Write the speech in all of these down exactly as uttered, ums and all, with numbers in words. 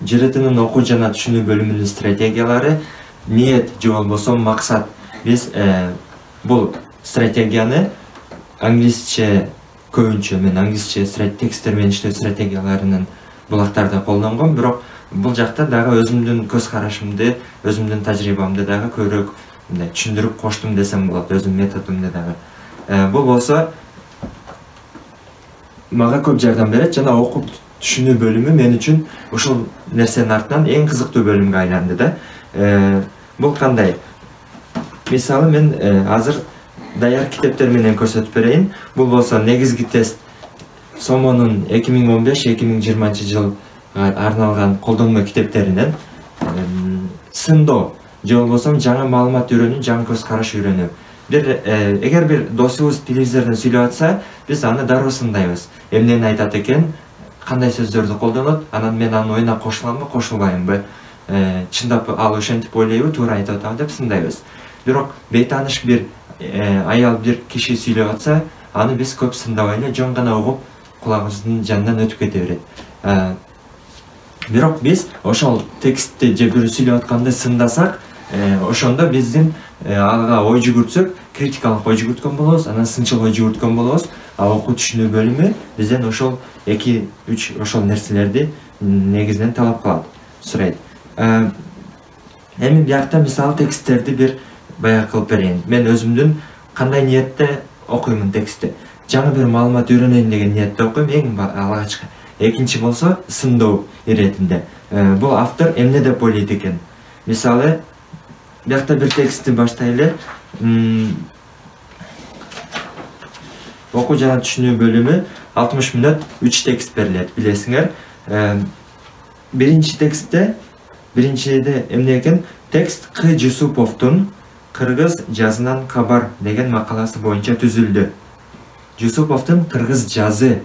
жртнын окуу жана түшүнүү бөлүмүнүн стратегиялары, ниет же болбосо максат. Биз бул стратегияны англисче көбүнчө мен англисче тексттер менен иштөө стратегияларынын булактарда колдонгом, бирок бул жакта дагы өзүмдүн көз карашымды, өзүмдүн тажрыйбамды дагы көбүрөөк мындай түшүндүрүп коштум десем болот, өзүмдүн методумду дагы. Бул болсо мага көп жардам берет жана окуп түшүнүү бөлүмү мен үчүн ушул нерсенин артынан эң кызыктуу бөлүмгө айланды да. Бул кандай? Мисалы мен азыр даяр китептер менен көрсөтүп берейин. Бул болсо негизги тест сомонун эки миң он беш эки миң жыйырманчы жылга арналган колдонмо китептеринен сындоо же болбосо жаңы маалымат үйрөнүү, жаңы көз караш үйрөнүү. Бир эгер бир досубуз телевизордон сүйлөп атса, биз аны дароо сындайбыз. Эмнени айтат экен, кандай сөздөрдү колдонот, анан мен анын оюна кошуламбы, кошулбаймынбы, чындап ал ошентип ойлойбу, туура айтып атабы деп сындайбыз. Бирок бейтааныш бир аял бир киши сүйлөп атса, аны биз көп сындабай эле жөн гана угуп, кулагыбыздын жанынан өтүп кете берет. Бирок биз ошол текстти же бирөө сүйлөп атканды сындасак, ошондо биздин ага ой жүгүртсөк, критикалык ой жүгүрткөн болобуз, анан сынчыл ой жүгүрткөн болобуз. А окуу түшүнүү бөлүмү бизден ошол эки үч ошол нерселерди негизинен талап кылат, сурайт. Эми биякта мисалы тексттерди бир баягы кылып берейин. Мен өзүмдүн кандай ниетте окуймун текстти. Жаңы бир маалымат үйрөнөйүн деген ниетте окуйм, эң алгачкы. Экинчи болсо сындоо иретинде. Бул автор эмне деп ойлойт экен? Мисалы, биякта бир текстти баштайлы. Окуу жана түшүнүү бөлүмү алтымыш мүнөт үч текст берилет, билесиңер. Биринчи текстте, биринчиде эмне экен? Текст К. Жусуповдун Кыргыз жазынан кабар деген макаласы боюнча түзүлдү. Жусуповдун Кыргыз жазы,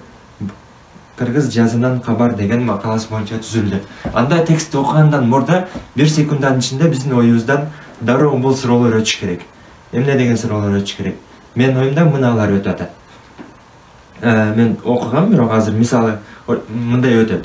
Кыргыз жазынан кабар деген макаласы боюнча түзүлдү. Анда текстти окугандан мурда бир секунддун ичинде биздин оюбуздан дароо бул суроолор өтүш керек. Эмне деген суроолор өтүш керек? Менин оюмда мыналар өтүп атат. Мен окугам, бирок азыр мисалы мындай өтөт.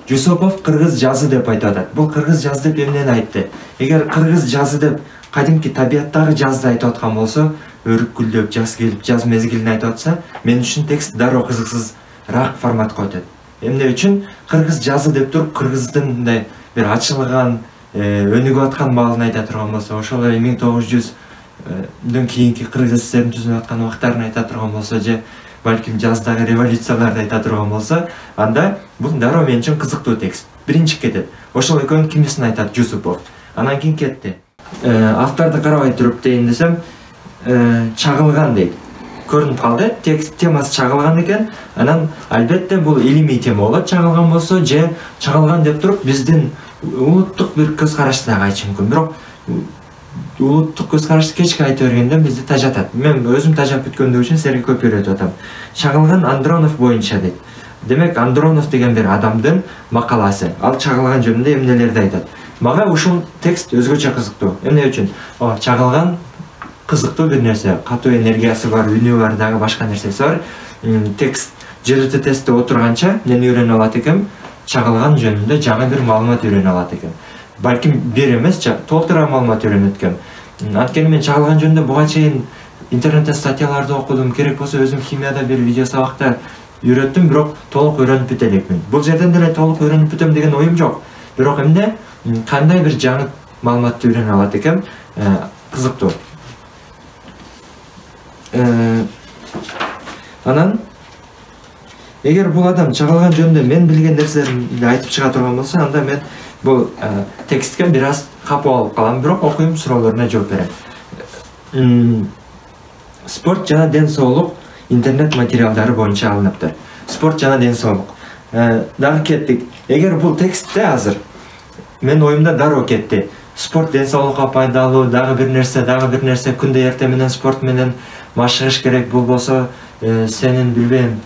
Жусупов кыргыз жазы деп айтып атат. Бул кыргыз жазы деп эмнени айтты? Эгер кыргыз жазы деп кадимки табияттагы жазды айтып аткан болсо, өрүк гүлдөп, жаз келип, жаз мезгилин айтып атса, мен үчүн текст дароо кызыксызраак форматка өтөт. Эмне үчүн кыргыз жазы деп туруп, кыргыздын мындай бир ачылган, өнүгүп аткан маалын айта турган болсо, ошол эле миң тогуз жүздөн кийинки Кыргыз ССРдин түзүлүп аткан убактарын айта турган болсо, же балким жаздагы революцияларды айта турган болсо, анда бул дароо мен үчүн кызыктуу текст. Биринчи кетет. Ошол экөөнүн кимисин айтат Жусупов. Анан кийин кетти. Авторду карабай туруп дейин десем, чагылган дейт. Көрүнүп калды, текст темасы чагылган экен. Анан албетте бул илимий тема болот, чагылган болсо, же чагылган деп туруп биздин улуттук бир көз карашты дагы айтышы мүмкүн. Бирок улуттук көз карашты кечке айтып бергенде бизди тажатат. Мен өзүм тажап бүткөндүгү үчүн силерге көп үйрөтүп атам. Чагылган Андронов боюнча дейт. Демек, Андронов деген бир адамдын макаласы. Ал чагылган жөнүндө эмнелерди айтат. Мага ушул текст өзгөчө кызыктуу. Эмне үчүн? О, чагылган кызыктуу бир нерсе, катуу энергиясы бар, үнү бар, дагы башка нерсеси бар. Текст жрт тестте отурганча мен үйрөнүп алат экем, чагылган жөнүндө жаңы бир маалымат үйрөнүп алат экем. Балким бир эмес, толтура маалымат үйрөнөт экем. Анткени мен чагылган жөнүндө буга чейин интернетте статьяларды окудум, керек болсо өзүм химияда бир видео сабакта үйрөттүм, бирок толук үйрөнүп бүтө элекмин. Бул жерден деле толук үйрөнүп бүтөм деген оюм жок. Бирок эмне, кандай бир жаңы маалыматты үйрөнүп алат экем, кызыктуу. Анан эгер бул адам чагылган жөнүндө мен билген нерселерди айтып чыга турган болсо, анда мен бул текстке бир аз капа болуп калам, бирок окуйм, суроолоруна жооп берем. Спорт жана ден соолук интернет материалдары боюнча алыныптыр. Спорт жана ден соолук. Дагы кеттик. Эгер бул текстте азыр мен оюмда дароо кетти. Спорт ден соолукка пайдалуу, дагы бир нерсе, дагы бир нерсе, күндө эртең менен спорт менен машыгыш керек, бул болсо сенин билбейм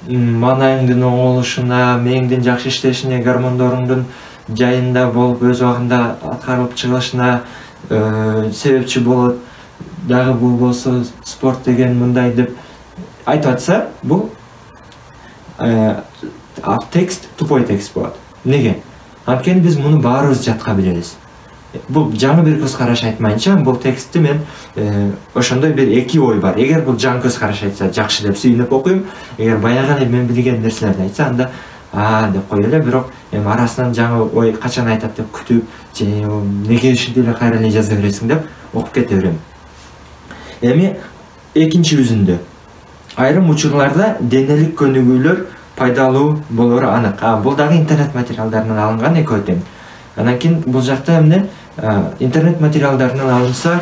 маанайыңдын оңолушуна, мээңдин жакшы иштешине, гормондоруңдун жайында болуп, өз убагында аткарылып чыгышына себепчи болот. Дагы бул болсо спорт деген мындай деп айтып атса, бул текст тупой текст болот. Неге? Анткени биз муну баарыбыз жатка билебиз. Бул жаңы бир көз караш айтмайынча, бул текстти мен ошондой бир эки ой бар. Эгер бул жаңы көз караш айтса, жакшы деп сүйүнүп окуйм. Эгер баягы эле мен билген нерселерди айтса, анда а деп кой эле, бирок эми арасынан жаңы ой качан айтат деп күтүп, же неге ушинтип эле кайра эле жаза бересиң деп окуп кете берем. Эми экинчи үзүндө айрым учурларда денелик көнүгүүлөр пайдалуу болору анык. А бул дагы интернет материалдарынан алынган экөө тең. Анан кийин бул жакта эмне интернет материалдарынан алынса,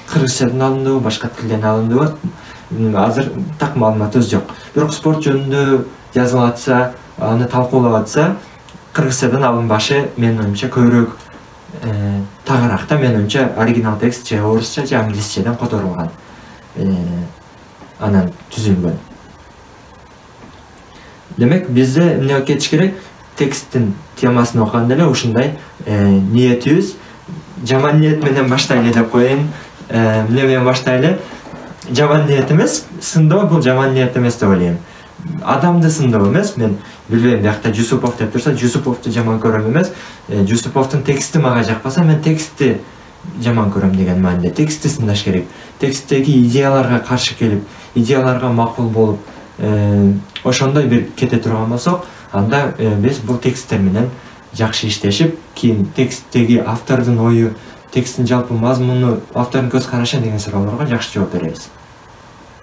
кыргызчадан алындыбы, башка тилден алындыбы, азыр так маалыматыбыз жок. Бирок спорт жөнүндө жазылып атса, аны талкуулап атса, кыргызчадан алынбашы менин оюмча көбүрөөк тагыраак да. Менин оюмча оригинал текст же орусча же англисчеден которулган, анан түзүлгөн. Демек бизде эмне кетиш керек? Тексттин темасын окуганда эле ушундай ниетибиз жаман ниет менен баштайлы деп коеюн. Эмне менен баштайлы? Жаман ниет эмес, сындоо бул жаман ниет эмес деп ойлойм. Адамды сындоо эмес. Мен билбейм, биякта Жусупов деп турса, Жусуповду жаман көрөм эмес. Жусуповдун тексти мага жакпаса, мен текстти жаман көрөм деген мааниде. Текстти сындаш керек. Тексттеги идеяларга каршы келип, идеяларга макул болуп, ошондой бир кете турган болсок, анда биз бул тексттер менен жакшы иштешип, кийин тексттеги автордун ою, тексттин жалпы мазмуну, автордун көз карашы деген суроолорго жакшы жооп беребиз.